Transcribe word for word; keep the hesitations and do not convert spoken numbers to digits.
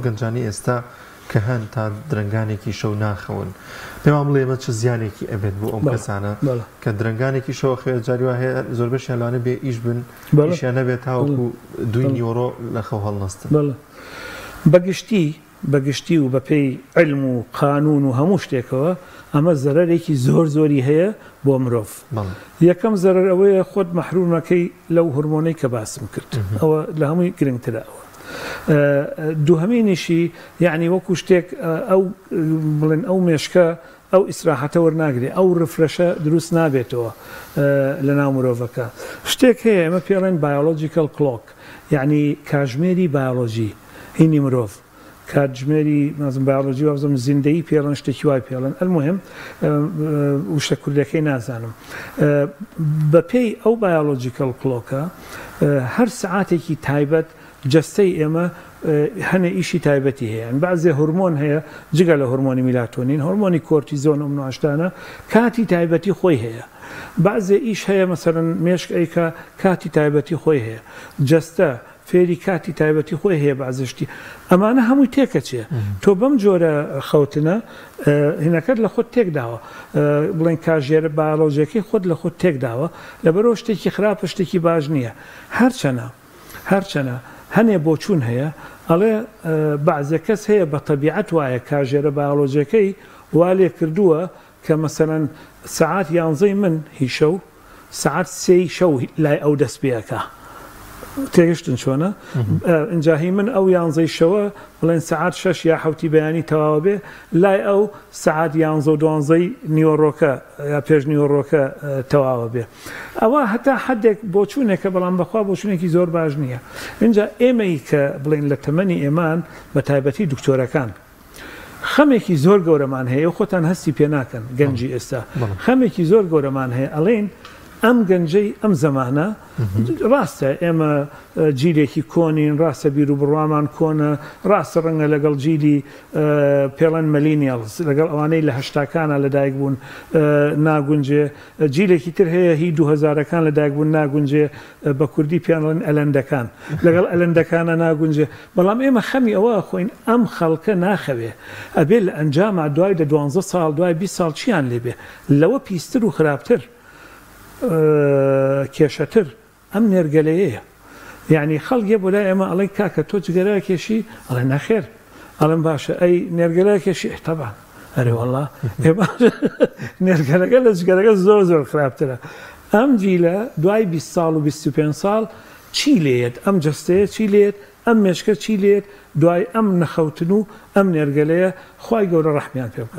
گەنجانی ئێستا کە هەن تا درەنگانێکی شەو ناخەون، پێمان بڵێ ئێمە چ زیانێکی ئەبێت بۆ ئەم کەسانە کە درەنگانێکی شەو خێر جاری وا هەیە زۆربەشیان لەوانەیە بێ ئیش بن، ئیشیان نەبێت تاوەکو دووی نیوەڕۆ لە خەو هەڵنەستن. بەگشتی بەگشتی و بەپێی علم و قانون و هەموو شتێکەوە ئەمە زەرەرێکی زۆر زۆری هەیە بۆ مرۆڤ. یەکەم زەرەر ئەوەیە خۆت مەحرومەکەی لەو هۆرمۆنەی کە باسم کرد، ئەوە لە هەمووی گرنگترە. ئەوە دووهەمینیشی یعنی وەکو شتێک ئەو بڵێن ئەو مێشکە ئەو ئیسراحەتە وەرناگرێ، ئەو refresh ە دروست نابێتەوە لە ناو مرۆڤەکە. شتێک هەیە ئێمە پێڵێن biological clock، یعنی کاژمێری بایۆلۆژی هینی مرۆڤ، کاتژمێری نازم بایۆلۆژی وابزانم زیندەیی پێڵێن، شتێکی وای پێڵێن. المهم وشە کوردەکەی نازانم. بەپێی ئەو biological clock ە هەر سعاتێکی تایبەت جەستەی ئێمە هەنێ ئیشی تایبەتی هەیە. بەعزێ هۆرمۆن هەیە جگە لە هۆرمۆنی میلاتۆنین، هۆرمۆنی کۆرتیزۆن و مناشتانە کاتی تایبەتی خۆی هەیە. بەعزێ ئیش هەیە مەسەرەن مێشک ئەیکا کاتی تایبەتی خۆی هەیە، جەستە فێری کاتی تایبەتی خۆی هەیە. بەعزشتی ئەمانە هەمووی تێکەچێ. تۆ بەم جۆرە خەوتنە هینەکەت لە خۆت تێکداوە، بڵێن کاژێرە بایۆلۆژیەکەی خۆت لە خۆت تێکداوە، لەبەرەوە شتێکی خراپە شتێکی باش نییە. هەرچەنە هەرچەنە هەنێ بۆچوون هەیە ئەڵێ بەعزێ کەس هەیە بە تەبیعەت وایە کاژێرە بایۆلۆژیەکەی وا لێ کردووە کە مەسەلەن سەعات یانزەی من هی شەو سەعات سێی شەو لای ئەو دەست پێەکە. تێگەشتن چۆنە؟ ئینجا هی من ئەو یانزەی شەوە بڵێن سەعات شەش یا حەوتی بەیانی تەواوە بێ، لای ئەو سەعات یانزە و دوانزەی نیوەڕۆکە یا پێش نیوەڕۆکە تەواوە بێ. ئەوە هەتا حدێک بۆچوونێکە، بەڵام بەخوا بۆچوونێکی زۆر باش نییە. اینجا ئێمەی کە بڵێن لە تەمەنی ئێمان بە تایبەتی دکتۆرەکان خەمێکی زۆر گەورەمان هەیە، خۆتان هەستی پێ ناکەن گەنجی ئێستا خەمێکی زۆر گەورەمان هەیە. ئەڵێن ئەم گەنجەی ئەم زەمانە ڕاستە ئێمە جیلێکی کۆنین، ڕاستە بیر و بڕوامان کۆنە، ڕاستە ڕەنگە لەگەڵ جیلی پێڵەن millennials لەگەڵ ئەوانەی لە هەشتاکانە لەدایک بوون ناگونجێ، جیلێکی تر هەیە هی دوو هەزارەکان لەدایک بوون ناگونجێ، بە کوردی پێڵەن ئەلەندەکان، لەگەڵ ئەلەندەکانە ناگونجێ. بەڵام ئێمە خەمی ئەوە خۆین ئەم خەڵکە ناخەوێ، ئەبێ لە ئەنجاما دوای دە دوانزە ساڵ دوای بیست ساڵ چیان لێبێ؟ لەوە پیستر و خراپتر کێشەتر ئەم نێرگەلەیەیە. یعنی خەڵکێ بۆ لای ئێمە ئەڵێن کاکە تۆ جگەرە کێشی؟ ئەڵێ نەخێر. ئەڵێم باشە ئەی نێرگەلە کێشی؟ تەبعەن. ئەرێ وەڵا نێرگەلەکە لە جگەرەکە زۆر زۆر خراپترە. ئەم جیلە دوای بیست ساڵ و بیست و پێنج ساڵ چی لێت؟ ئەم جەستەیە چی لێت؟ ئەم مێشکە چی لێت؟ دوای ئەم نەخەوتن و ئەم نێرگەلەیە خوای گەورە ڕەحمیان پێ بکات.